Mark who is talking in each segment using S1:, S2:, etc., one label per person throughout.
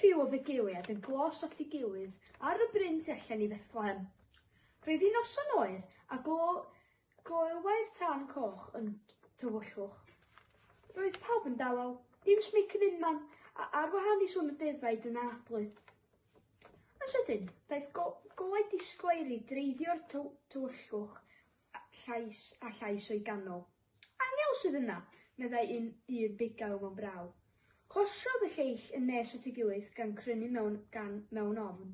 S1: criw o fugeiliaid yn glos at ei gilydd ar y bryn tu allan i Fethlehem. Roedd hi'n noson oer a goleuai'r tân coch yn tywyllwch. Roedd pawb yn dawel, dim smic yn unman, a ar wahân i sŵn y defaid yn anadlu. Yn sydyn, daeth golau disglair i dreiddio'r tywyllwch llais a llais o'i ganol. Angel sydd yna! meddai un un bugail mewn braw. Closiodd y lleill yn nes at ei gilydd gan crynu mewn gan mewn ofn.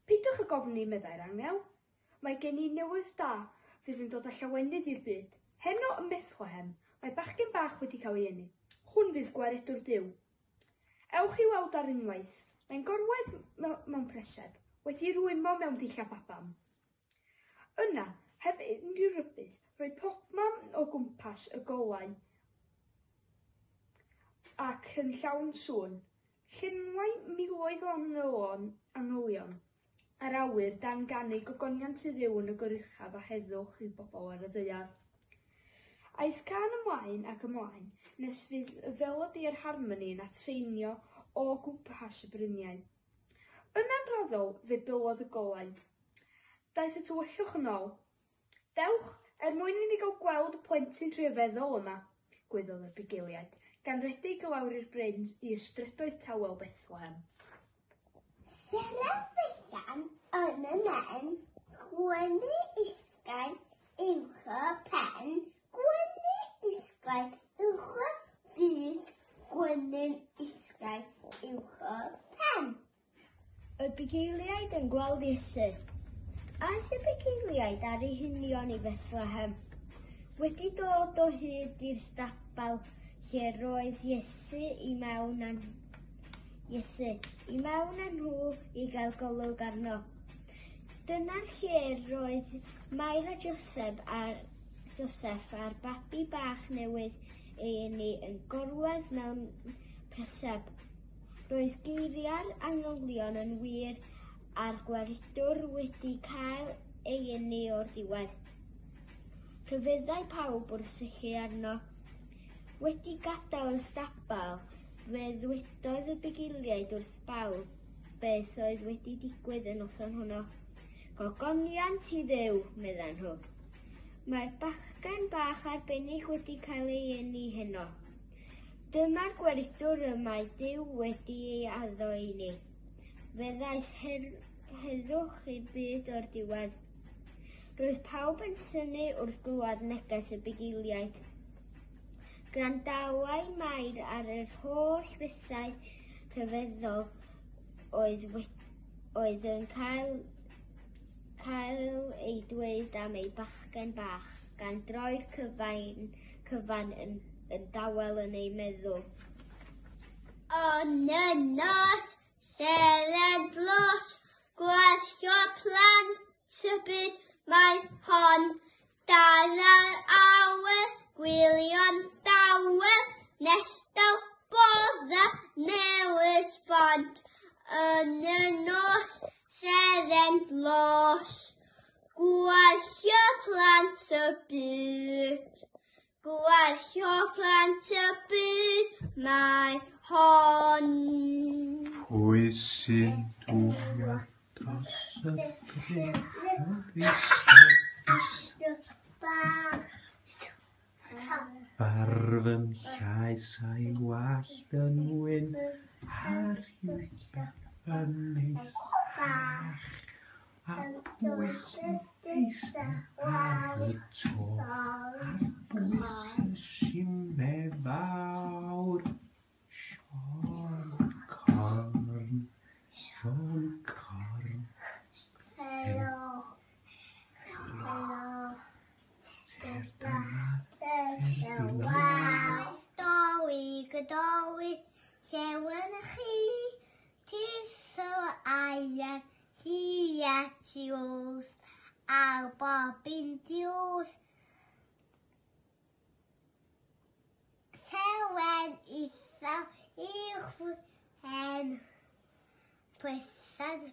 S1: Peidiwch ag ofni, meddai'r angel. Mae gen i newydd da fydd yn dod â llawenydd i'r byd. Heno ym Methlehem, mae bachgen bach wedi cael ei eni. Hwn fydd gwaredwr Duw. Ewch i'w weld ar unwaith. Mae'n gorwedd mewn preseb, wedi rwymo mewn dillad baban. Yna, heb unrhyw rybudd, roedd popman o gwmpas y golau ac yn llawn sŵn. Llenwai miloedd o angylion yr awyr dan ganu gogoniant i Dduw yn y goruchaf a heddwch i bobl ar y ddaear. Aeth cân ymlaen ac ymlaen nes fydd y felodi a'r harmoni yn atseinio o gwmpas y bryniau. Yna'n raddol, fe bylodd y golau. Daeth y tywyllwch yn ôl. Dewch, er mwyn i ni gael gweld y plentyn rhyfeddol yma, gwaeddodd y bugeiliaid, gan redeg i lawr i'r bryn i'r strydoedd tawel Bethlehem.
S2: Seren fychan yn y nen, gwenu isgain uwch y pen, gwenu isgain uwch y byd, gwenu'n isgain uwch y pen.
S3: Y bugeiliaid yn gweld Iesu. Aeth y bugeiliaid ar eu hunion i Fethlehem. Wedi dod o hyd i'r stabal lle roedd Iesu i mewn â Iesu, i mewn â nhw i gael golwg arno. Dyna'r lle roedd Mair a Joseph a'r Joseph a'r babi bach newydd ei eni yn gorwedd mewn preseb. Roedd geiriau'r angylion yn wir a'r gwaredwr wedi cael ei eni o'r diwedd. Rhyfeddai pawb wrth syllu arno. Wedi gadael y stabal, fe ddwedodd y bugeiliaid wrth bawb beth oedd wedi digwydd y noson honno. Gogoniant i Dduw, meddan nhw. Mae'r bachgen bach arbennig wedi cael ei eni heno. Dyma'r gwaredwr y mae Duw wedi ei addo i ni. Fe ddaeth heddwch i'r byd o'r diwedd. Roedd pawb yn synnu wrth glywed neges y bugeiliaid. Gwrandawai Mair ar yr holl bethau rhyfeddol oedd, oedd yn cael, cael eu dweud am ei bachgen bach, gan droi'r cyfan, cyfan yn, yn dawel yn ei meddwl.
S2: Yn y nos, seren dlos, gwerthio plant y byd mae hon. Dal ar awyr, gwylio'n dawel, nes daw bodda newydd sbont. Yn y nos, seren dlos, gwerthio plant y byd. Gwerthio plant y byd mae hon.
S4: Pwy sy'n dŵad dros y bryn mor isel Barf yn llaes a'i wallt yn wyn a rhywbeth yn ei sach. A pwy sy'n eistedd ar y to ar bwys y shime fawr? Siôn Corn, Siôn Corn.
S2: Helo. Helo. Dolig y dolig, llew yn chi, tisl aer, lliwiau tiws, ar bob un diws. Seren isel uwch hen, pwysau.